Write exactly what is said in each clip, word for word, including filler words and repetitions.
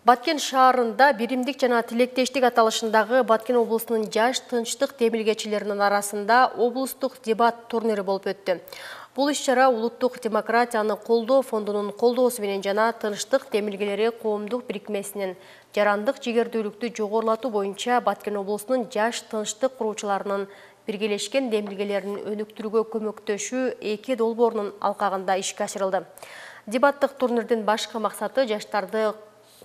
Баткен шаарында биримдик жана тилектештик аталышындагы Баткен облусунун жаш тынчтык демилгечилеринин арасында облустук дебат турнири болуп өттү. Бул иш-чара улуттук демократияны колдоо фондунун колдоосу менен жана тынчтык демилгелери коомдук бирикмесинин жарандык жигердүүлүктү жогорулатуу боюнча Баткен облусунун жаш тынчтык куруучуларынын биргелешкен демилгелерин өнүктүрүүгө көмөктөшүү эки долбоорунун алкагында ишке ашырылды. Дебаттык турнирдин башкы максаты жаштарды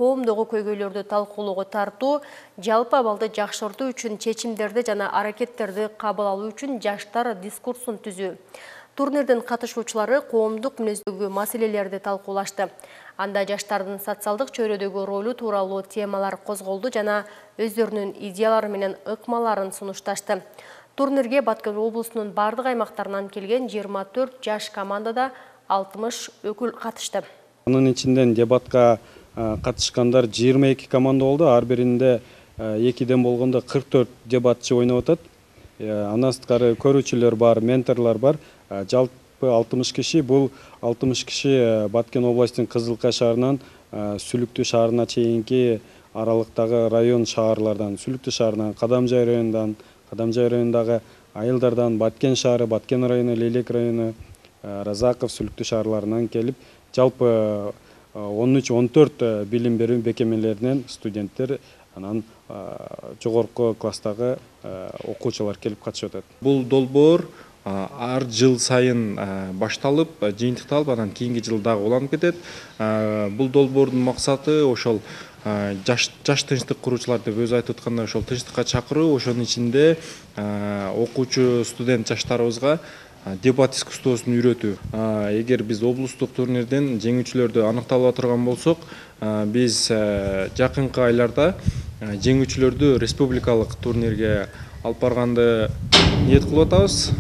коомдогу көйгөйлөрдү талкуулоого тартуу, жалпы абалды жакшыртуу үчүн чечимдерди жана аракеттерди кабыл алуу үчүн жаштар дискурсун түзүү. Турнирдин катышуучулары коомдук мүнөздөгү маселелерди талкуулашты. Анда жаштардын социалдык чөйрөдөгү ролу тууралуу темалар козголду жана өздөрүнүн идеялары менен ыкмаларын сунушташты. Турнирге Баткен облусунун бардык аймактарынан келген жыйырма төрт жаш командада алтымыш өкүл катышты. Анын ичинен дебатка катышкандар жыйырма эки команда болду. Ар биринде экиден болгондо кырк төрт дебатчы ойноп атат. Андан сырткары көрүүчүлөр бар, менторлор бар. Жалпы алтымыш киши. Бул алтымыш киши Баткен областынын Кызылкай шаарынан Сүлүктүү шаарына чейинки аралыктагы район шаарлардан, Сүлүктүү шаарынан, Кадамжай районундан, Кадамжай районундагы айылдардан, Баткен шаары, Баткен району, Лелек району, Разаков, Сүлүктүү шаарларынан келип, жалпы он үч он төрт билим берүү бекемелеринен студенттер, анан жогорку класстагы окуучулар келип катышып атат. Бул долбоор ар жыл сайын башталып, жыйынтыкталып, анан кийинки жыл дагы уланып кетет. Бул долбоордун максаты ошол жаш жаш тынчтык куруучулар деп өзү айтып аткандай, ошол тынчтыкка чакыруу, ошонун ичинде окуучу студент жаштарыбызга дебат искусствосун үйрөтүү. Эгер биз облустук турнирден жеңүүчүлөрдү аныкталып турган болсок, биз жакынкы айларда жеңүүчүлөрдү республикалык турнирге алып барганды ниет кылып атабыз.